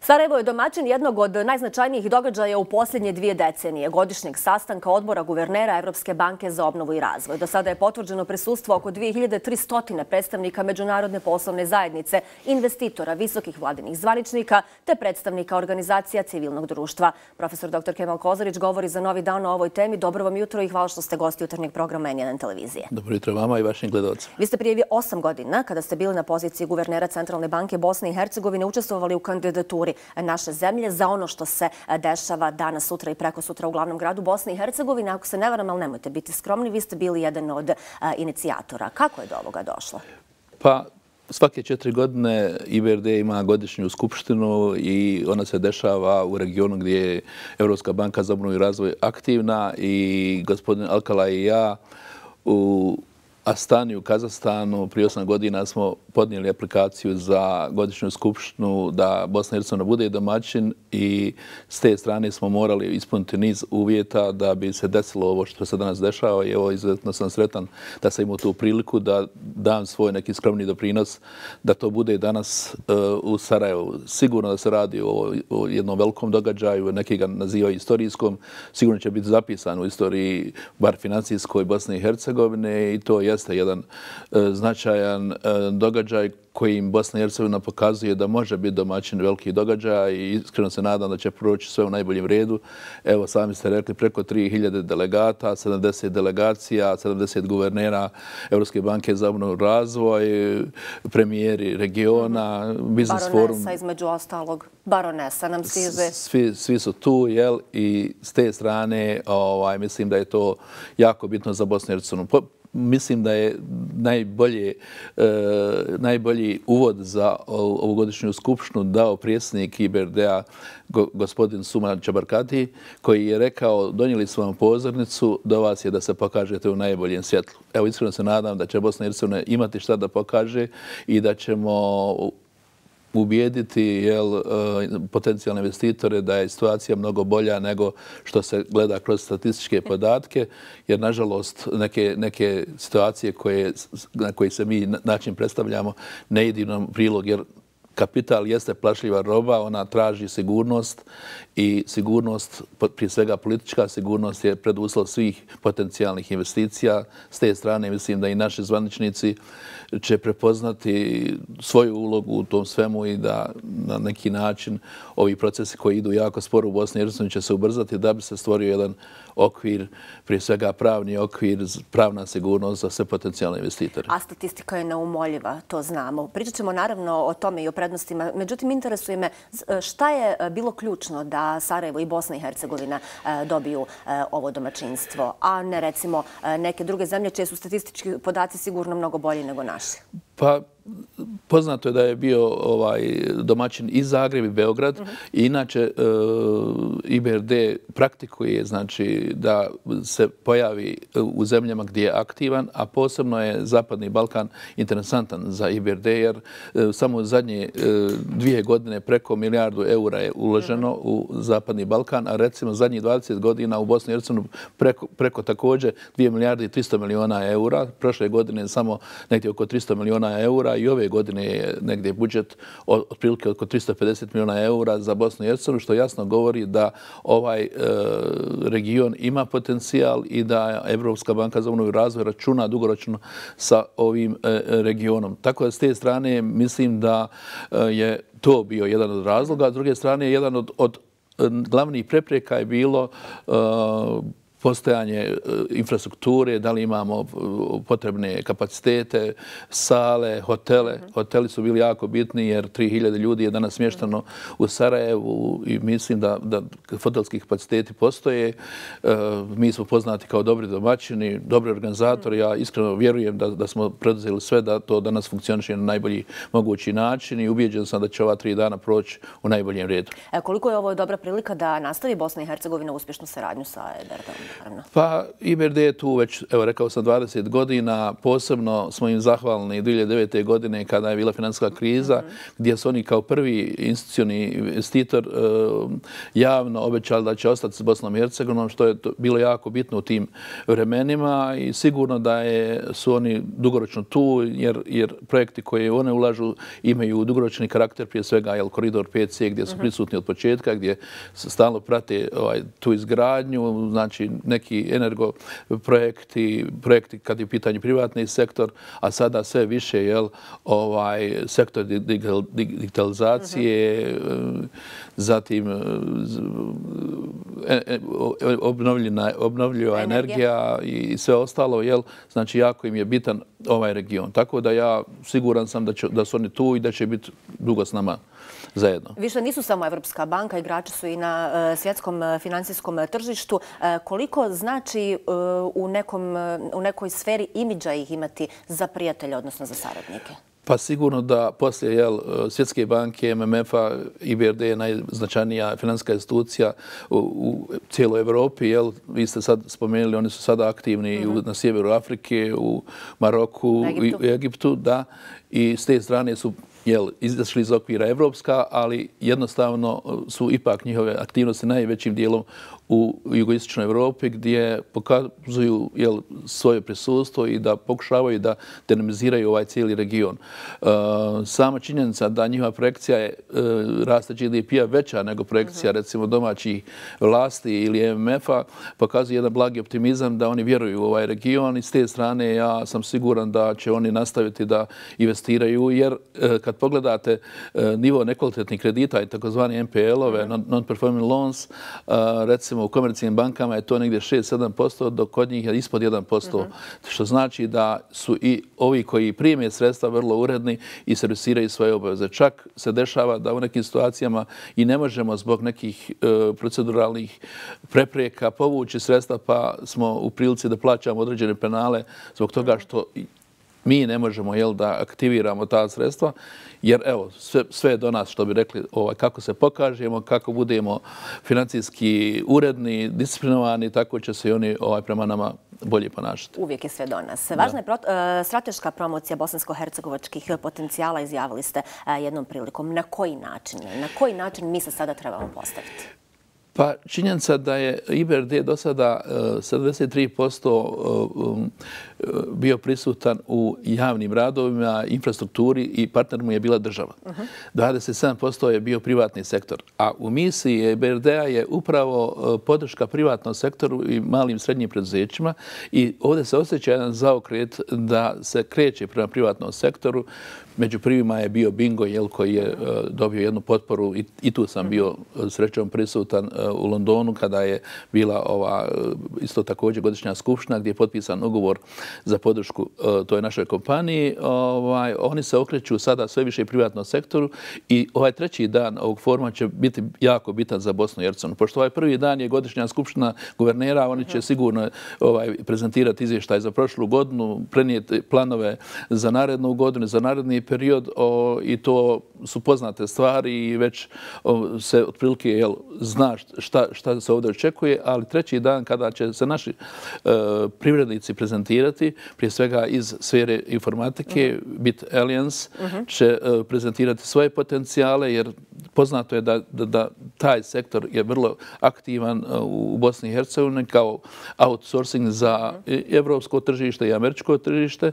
Sarajevo je domaćin jednog od najznačajnijih događaja u posljednje 2 decenije, godišnjeg sastanka odbora guvernera Evropske banke za obnovu i razvoj. Do sada je potvrđeno prisustvo oko 2300 predstavnika međunarodne poslovne zajednice, investitora, visokih vladinih zvaničnika te predstavnika organizacija civilnog društva. Profesor dr. Kemal Kozarić govori za Novi dan o ovoj temi. Dobro vam jutro i hvala što ste gosti jutarnjeg programa N1 televizije. Dobro jutro vama i vašim gledalcima. Vi ste prije 8 godina, kada ste bili na poziciji guvernera Centralne banke Bosne i Hercegovine, učestvovali u kandidaturi naše zemlje za ono što se dešava danas, sutra i prekosutra u glavnom gradu Bosne i Hercegovine. Ako se ne varam, ali nemojte biti skromni, vi ste bili jedan od inicijatora. Kako je do ovoga došlo? Pa, svake 4 godine IBRD ima godišnju skupštinu i ona se dešava u regionu gdje je Evropska banka za obnovu i razvoj aktivna i gospodin Alcalay i ja u Astani u Kazahstanu prije 8 godina smo podnijeli aplikaciju za godišnju skupštinu da Bosna i Hercegovina bude domaćin i s te strane smo morali ispuniti niz uvjeta da bi se desilo ovo što se danas dešava i evo izuzetno sam sretan da sam imao tu priliku da dam svoj neki skromni doprinos da to bude danas u Sarajevu. Sigurno da se radi o jednom velikom događaju, neki ga nazivaju istorijskom, sigurno će biti zapisan u istoriji bar financijskoj Bosne i Hercegovine i to jeste jedan značajan događaj kojim Bosna i Hercegovina pokazuje da može biti domaćin velikih događaja i iskreno se nadam da će proći sve u najboljem redu. Evo, sami ste rekli, preko 3000 delegata, 70 delegacija, 70 guvernera Evropske banke za obnovu i razvoj, premijeri regiona, biznis forum. Baronesa između ostalog. Baronesa nam stiže. Svi su tu, jel? I s te strane mislim da je to jako bitno za Bosnu i Hercegovinu. Mislim da je najbolji uvod za ovogodišnju skupštinu dao predsjednik IBRD-a gospodin Suma Čabarkati, koji je rekao donijeli smo vam pozornicu, do vas je da se pokažete u najboljem svjetlu. Evo, iskreno se nadam da će Bosna i Hercegovina imati šta da pokaže i da ćemo ubijediti potencijalne investitore da je situacija mnogo bolja nego što se gleda kroz statističke podatke, jer nažalost neke situacije na koje se mi način predstavljamo ne idu nam prilog, jer kapital jeste plašljiva roba, ona traži sigurnost i sigurnost, prije svega politička sigurnost, je preduslov svih potencijalnih investicija. S te strane mislim da i naši zvaničnici će prepoznati svoju ulogu u tom svemu i da na neki način ovi procesi koji idu jako sporo u Bosni i Hercegovini će se ubrzati da bi se stvorio jedan okvir, prije svega pravni okvir, pravna sigurnost za sve potencijalne investitore. A statistika je neumoljiva, to znamo. Pričat ćemo naravno o tome i o prednostima. Međutim, interesuje me šta je bilo ključno da Sarajevo i Bosna i Hercegovina dobiju ovo domaćinstvo, a ne recimo neke druge zemlje čije su statistički podaci sigurno mnogo bolji nego naši. Pa, poznato je da je bio domaćin i Zagreb i Beograd. Inače, IBRD praktikuje znači da se pojavi u zemljama gdje je aktivan, a posebno je Zapadni Balkan interesantan za IBRD, jer samo zadnje 2 godine preko €1 milijardu je uloženo u Zapadni Balkan, a recimo zadnjih 20 godina u Bosni i Hercegovini preko također 2 milijarde i 300 milijuna eura. Prošle godine samo negdje oko 300 milijuna eura i ove godine je negdje budžet otprilike oko 350 milijuna eura za Bosnu i Hercegovinu, što jasno govori da ovaj region ima potencijal i da Evropska banka za obnovu i razvoj računa dugoročno sa ovim regionom. Tako da s te strane mislim da je to bio jedan od razloga. S druge strane, jedan od glavnih prepreka je bilo postojanje infrastrukture, da li imamo potrebne kapacitete, sale, hotele. Hoteli su bili jako bitni jer 3000 ljudi je danas smješteno u Sarajevu i mislim da hotelski kapaciteti postoje. Mi smo poznati kao dobri domaćini, dobri organizatori. Ja iskreno vjerujem da smo preduzeli sve da to danas funkcioniše na najbolji mogući način i ubijeđen sam da će ova 3 dana proći u najboljem redu. Koliko je ovo dobra prilika da nastavi Bosna i Hercegovina uspješnu saradnju sa EBRD-om? naravno. Pa IBRD je tu već, evo rekao sam, 20 godina. Posebno smo im zahvalni 2009. godine kada je bila financijska kriza, gdje su oni kao prvi institucioni investitor javno obećali da će ostati s Bosnom i Hercegovinom, što je bilo jako bitno u tim vremenima i sigurno da su oni dugoročno tu, jer projekti koje one ulažu imaju dugoročni karakter, prije svega koridor 5C gdje su prisutni od početka, gdje stalno prate tu izgradnju, znači neki energo projekti kad je u pitanju privatni sektor, a sada sve više sektor digitalizacije, zatim obnovljiva energija i sve ostalo, znači jako im je bitan ovaj region. Tako da ja siguran sam da su oni tu i da će biti dugo s nama zajedno. Više nisu samo Evropska banka, igrači su i na svjetskom financijskom tržištu. Koliko znači u nekoj sferi imidža ih imati za prijatelje, odnosno za saradnike? Pa sigurno da poslije Svjetske banke, MMF-a, IBRD je najznačajnija financijska institucija u cijeloj Evropi. Vi ste sad spomenuli, oni su sada aktivni na sjeveru Afrike, u Maroku, u Egiptu, da. I s te strane su izašli iz okvira evropska, ali jednostavno su ipak njihove aktivnosti najvećim dijelom u jugoistočnoj Evropi gdje pokazuju svoje prisustvo i da pokušavaju da dinamiziraju ovaj cijeli region. Sama činjenica da njihova projekcija je rasta GDP-a veća nego projekcija recimo domaćih vlasti ili MMF-a pokazuje jedan blagi optimizam da oni vjeruju u ovaj region i s te strane ja sam siguran da će oni nastaviti da investiraju jer kad pogledate nivo nekvalitetnih kredita i takozvani NPL-ove, non-performing loans, recimo u komercijalnim bankama je to negdje 6-7%, dok kod njih je ispod 1%, što znači da su i ovi koji prime sredstva vrlo uredni i servisiraju svoje obaveze. Čak se dešava da u nekim situacijama i ne možemo zbog nekih proceduralnih prepreka povući sredstva pa smo u prilici da plaćamo određene penale zbog toga što mi ne možemo da aktiviramo ta sredstva, jer evo, sve je do nas, što bi rekli, kako se pokažemo, kako budemo financijski uredni, disciplinovani, tako će se i oni prema nama bolje ponašati. Uvijek je sve do nas. Važna je strateška promocija bosansko-hercegovačkih potencijala, izjavili ste jednom prilikom. Na koji način? Na koji način mi se sada trebamo postaviti? Pa činjenica da je IBRD do sada 73% bio prisutan u javnim radovima, infrastrukturi i partner mu je bila država. 27% je bio privatni sektor. A u misiji IBRD-a je upravo podrška privatnom sektoru i malim i srednjim preduzećima i ovdje se osjeća jedan zaokret da se kreće prema privatnom sektoru. Među prvima je bio Bingo, koji je dobio jednu potporu i tu sam bio srećom prisutan u Londonu kada je bila isto također godišnja skupština gdje je potpisan ugovor za podršku toj našoj kompaniji. Oni se okreću sada sve više privatnom sektoru i ovaj treći dan ovog foruma će biti jako bitan za Bosnu i Hercegovinu. Pošto ovaj prvi dan je godišnja skupština guvernera, oni će sigurno prezentirati izvještaj za prošlu godinu, prenijeti planove za narednu godinu, za naredni period i to su poznate stvari i već se otprilike zna šta se ovdje očekuje, ali treći dan kada će se naši privrednici prezentirati, prije svega iz sfere informatike, Bit Alliance će prezentirati svoje potencijale jer poznato je da taj sektor je vrlo aktivan u Bosni i Hercegovini kao outsourcing za evropsko tržište i američko tržište.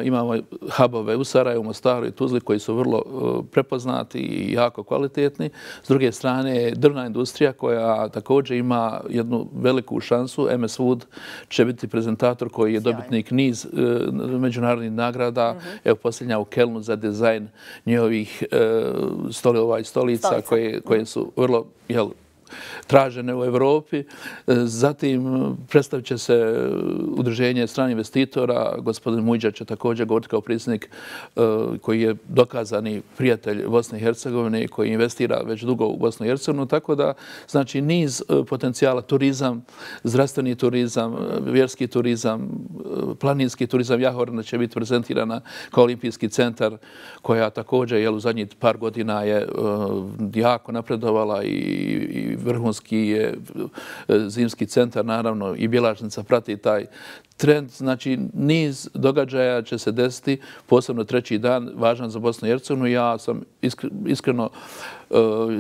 Imamo hubove u Sarajevu, Mostaru i Tuzli koji su vrlo prepoznati i jako kvalitetni. S druge strane, drvna industrija koja također ima jednu veliku šansu. MS Wood će biti prezentator koji je dobitnik niz međunarodnih nagrada. Evo posljednja u Kelnu za dizajn njihovih stolica koje su vrlo tražene u Evropi. Zatim predstavit će se udruženje stranih investitora. Gospodin Mujđa će također govoriti kao predsjednik koji je dokazani prijatelj Bosne i Hercegovine koji investira već dugo u Bosnu i Hercegovinu. Tako da, znači, niz potencijala, turizam, zdravstveni turizam, vjerski turizam, planinski turizam Jahorna će biti prezentirana kao olimpijski centar, koja također u zadnjih par godina je jako napredovala i vrhunski je zimski centar, naravno i Bjelašnica prati taj trend. Znači, niz događaja će se desiti, posebno treći dan, važan za Bosnu i Hercegovinu. Ja sam iskreno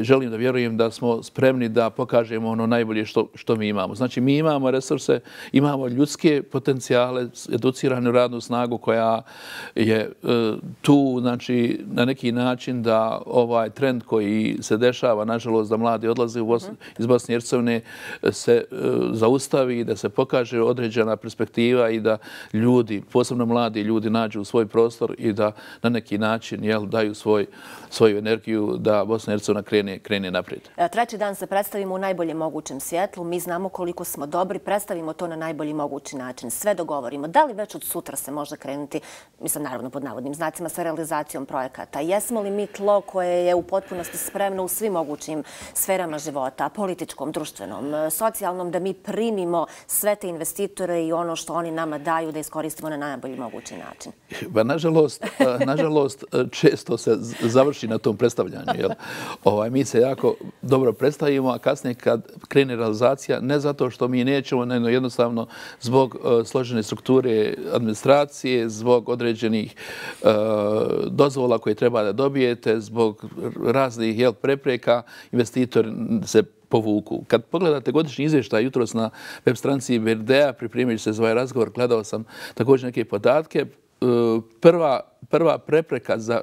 želim da vjerujem da smo spremni da pokažemo ono najbolje što mi imamo. Znači, mi imamo resurse, imamo ljudske potencijale, educiranu radnu snagu koja je tu, znači, na neki način da ovaj trend koji se dešava, nažalost, da mladi odlaze iz Bosne i Hercegovine, se zaustavi, da se pokaže određena perspektiva i da ljudi, posebno mladi ljudi, nađu svoj prostor i da na neki način daju svoju energiju da Bosna i Hercegovina krene naprijed. Treći dan se predstavimo u najboljem mogućem svjetlu. Mi znamo koliko smo dobri, predstavimo to na najbolji mogući način. Sve dogovorimo. Da li već od sutra se može krenuti, mislim naravno pod navodnim znacima, sa realizacijom projekata? Jesmo li mi tlo koje je u potpunosti spremno u svim mogućim sferama života, političkom, društvenom, socijalnom, da mi primimo sve te investitore i ono što oni nama daju da iskoristimo na najbolji mogući način? Pa, nažalost, često se završi na tom predstavljanju. Mi se jako dobro predstavimo, a kasnije kad krene realizacija, ne zato što mi nećemo, nego jednostavno zbog složene strukture administracije, zbog određenih dozvola koje treba da dobijete, zbog raznih prepreka, investitori se povuku. Kad pogledate godišnji izvještaj jutros na web stranici IBRD-a, pripremajući se za ovaj razgovor, gledao sam također neke podatke. Prva prepreka za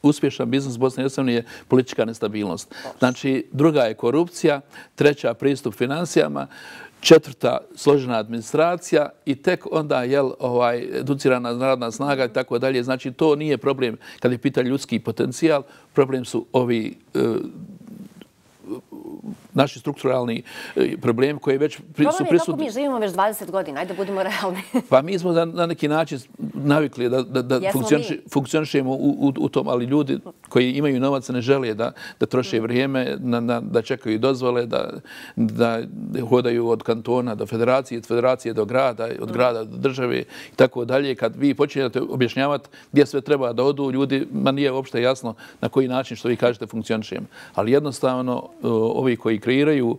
uspješan biznis Bosne i Hercegovine je politička nestabilnost. Znači, druga je korupcija, treća pristup financijama, četvrta složena administracija i tek onda educirana radna snaga i tako dalje. Znači, to nije problem kad je pitan ljudski potencijal, problem su ovi naši strukturalni problemi koji već su prisutni. Kako mi živimo već 20 godina? Ajde, budemo realni. Pa mi smo na neki način navikli da funkcionišemo u tom, ali ljudi koji imaju novac ne žele da troše vrijeme, da čekaju dozvole, da hodaju od kantona do federacije, od federacije do grada, od grada do države i tako dalje. Kad vi počinjete objašnjavati gdje sve treba da odu, ljudima nije uopšte jasno na koji način, što vi kažete, funkcionišemo. Ali jednostavno, ovi koji kreiraju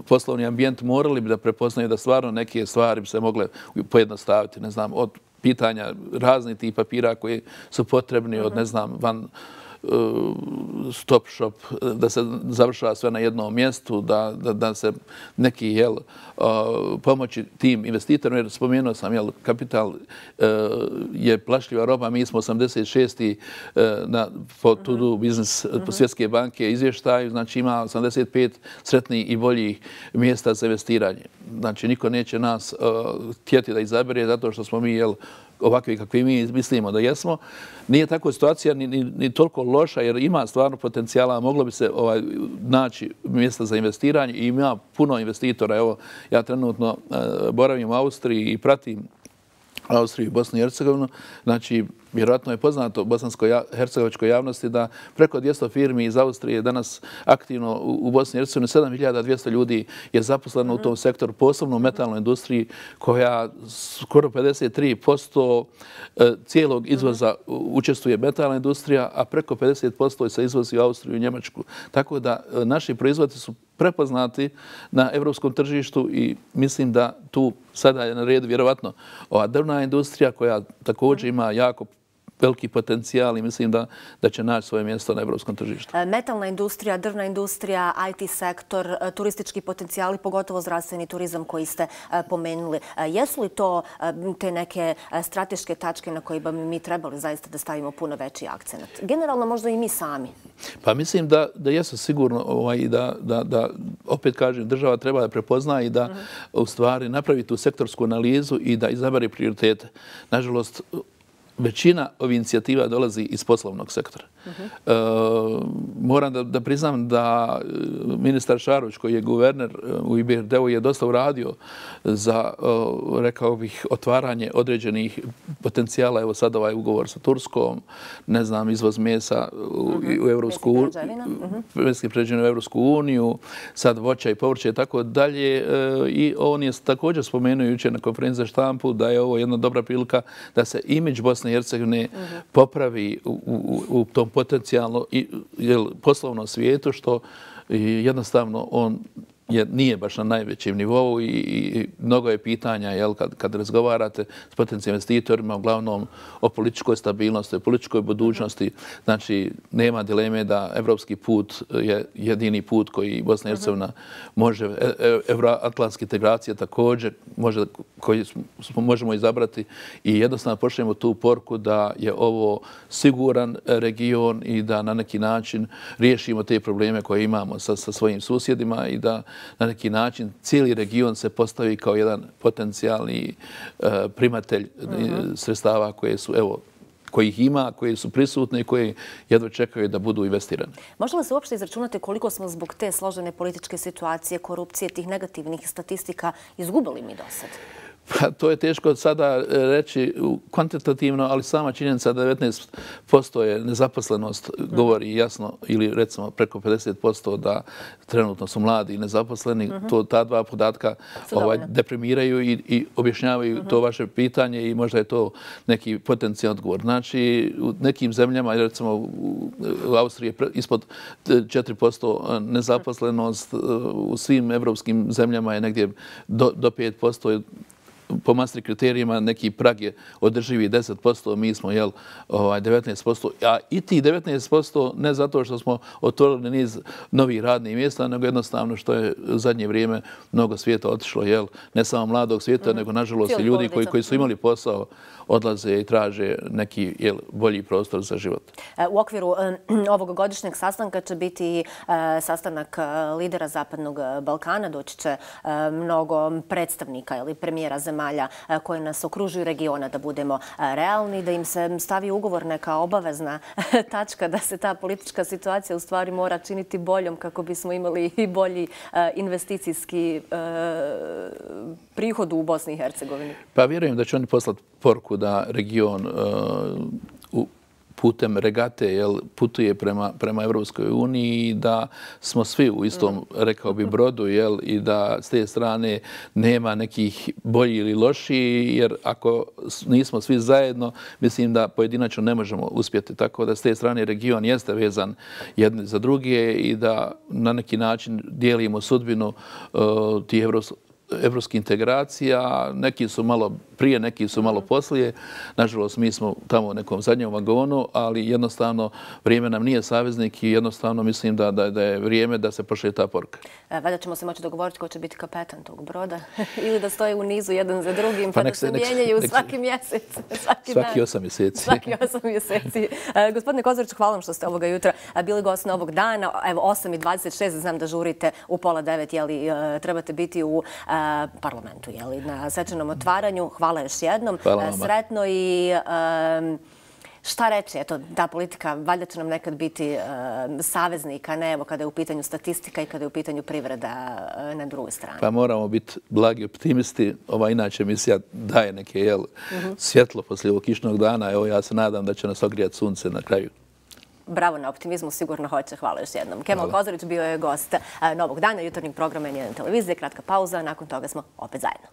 poslovni ambijent morali bi da prepoznaju da stvarno neke stvari bi se mogle pojednostaviti. Ne znam, od pitanja raznih tih papira koji su potrebni, od ne znam, van stop shop, da se završava sve na jednom mjestu, da se neki pomoći tim investitorima, jer spomenuo sam, kapital je plašljiva roba, mi smo 86. po To Do Business Svjetske banke izvještaju, znači ima 85 sretnih i boljih mjesta za investiranje. Znači, niko neće nas htjeti da izabere zato što smo mi ovakvi kakvi mi mislimo da jesmo. Nije tako situacija ni toliko loša jer ima stvarno potencijala, moglo bi se naći mjesta za investiranje i ima puno investitora. Evo, ja trenutno boravim u Austriji i pratim Austriju i Bosnu i Hercegovinu. Znači, vjerojatno je poznato bosansko-hercegovačkoj javnosti da preko 200 firmi iz Austrije danas aktivno u Bosni i Hercegovini, 7200 ljudi je zaposleno u tom sektoru, posebno u metalnoj industriji koja skoro 53% cijelog izvoza učestvuje metalna industrija, a preko 50% se izvozi u Austriju i Njemačku. Tako da naši proizvodi su prepoznati na evropskom tržištu i mislim da tu sada je na redu vjerovatno ova drvna industrija koja također ima jako veliki potencijal i mislim da će naći svoje mjesto na evropskom tržištu. Metalna industrija, drvna industrija, IT sektor, turistički potencijali, pogotovo zdravstveni turizam koji ste pomenuli. Jesu li to te neke strateške tačke na koje bi mi trebali zaista da stavimo puno veći akcent? Generalno možda i mi sami. Pa mislim da jesu sigurno i da opet kažem, država treba da prepozna i da u stvari napravi tu sektorsku analizu i da izabere prioritete. Nažalost, većina ovih inicijativa dolazi iz poslovnog sektora. Moram da priznam da ministar Šarović, koji je guverner u IBRD-u, je dosta uradio za, rekao bih, otvaranje određenih potencijala. Evo sad ovaj ugovor sa Turskom, ne znam, izvoz mesa u Evropsku uniju, sad voća i povrće i tako dalje. I on je također spomenuo jučer na konferenciji za štampu da je ovo jedna dobra prilika da se imidž Bosne i Hercegovine popravi u tom potencijalno poslovnom svijetu, što jednostavno on nije baš na najvećem nivou i mnogo je pitanja kad razgovarate s potencijalnim investitorima, uglavnom o političkoj stabilnosti, o političkoj budućnosti. Znači, nema dileme da evropski put je jedini put koji Bosna i Hercegovina može, euroatlantske integracije također, koji možemo izabrati i jednostavno pošaljemo tu poruku da je ovo siguran region i da na neki način riješimo te probleme koje imamo sa svojim susjedima i da na neki način cijeli region se postavi kao jedan potencijalni primatelj sredstava koje su, evo, kojih ima, koje su prisutne i koje jedva čekaju da budu investirane. Može li se uopšte izračunati koliko smo zbog te složene političke situacije, korupcije, tih negativnih statistika izgubili mi do sad? Pa, to je teško sada reći kvantitativno, ali sama činjenica da 19% je nezaposlenost govori jasno, ili recimo preko 50% da trenutno su mladi i nezaposleni. Ta dva podatka deprimiraju i objašnjavaju to vaše pitanje i možda je to neki potencijalni odgovor. Znači, u nekim zemljama, recimo u Austriji je ispod 4% nezaposlenost, u svim evropskim zemljama je negdje do 5%. Po Maastricht kriterijima neki prag je održivi 10%, mi smo 19%, a i tih 19% ne zato što smo otvorili niz novih radnih mjesta, nego jednostavno što je u zadnje vrijeme mnogo svijeta otišlo, ne samo mladog svijeta, nego nažalost i ljudi koji su imali posao odlaze i traže neki bolji prostor za život. U okviru ovog godišnjeg sastanka će biti sastanak lidera Zapadnog Balkana. Doći će mnogo predstavnika ili premijera zemalja koji nas okružuju regiona, da budemo realni, da im se stavi ugovor neka obavezna tačka da se ta politička situacija u stvari mora činiti boljom kako bismo imali i bolji investicijski prihod u Bosni i Hercegovini. Pa vjerujem da će oni poslati poruku da region putem regate putuje prema Evropskoj uniji i da smo svi u istom, rekao bi, brodu i da s te strane nema nekih bolji ili lošiji, jer ako nismo svi zajedno, mislim da pojedinačno ne možemo uspjeti. Tako da s te strane region jeste vezan jedni za druge i da na neki način dijelimo sudbinu tih evropskih integracija. Neki su malo prije, neki su malo poslije. Nažalost, mi smo tamo u nekom zadnjem vagonu, ali jednostavno vrijeme nam nije saveznik i jednostavno mislim da je vrijeme da se pošalje ta poruka. Valjda ćemo se moći dogovoriti ko će biti kapetan tog broda ili da stoje u nizu jedan za drugim pa da se mijenjaju svaki mjesec, svaki 8 mjeseci. Svaki 8 mjeseci. Gospodine Kozoriću, hvala vam što ste ovoga jutra bili gost novog dana. Evo, 8:26, znam da žurite u 8:30, trebate biti u parlamentu, na svečanom otvaranju. Hvala još jednom. Sretno i šta reći? Eto, ta politika valjda će nam nekad biti saveznik, a ne evo kada je u pitanju statistika i kada je u pitanju privreda na drugoj strani. Pa moramo biti blagi optimisti. Ova inače emisija daje neke svjetlo poslije ovog kišnog dana. Evo, ja se nadam da će nas ogrijati sunce na kraju. Bravo na optimizmu, sigurno hoće. Hvala još jednom. Kemal Kozorić bio je gost novog dana jutarnjeg programa N1 televizije. Kratka pauza, nakon toga smo opet zajedno.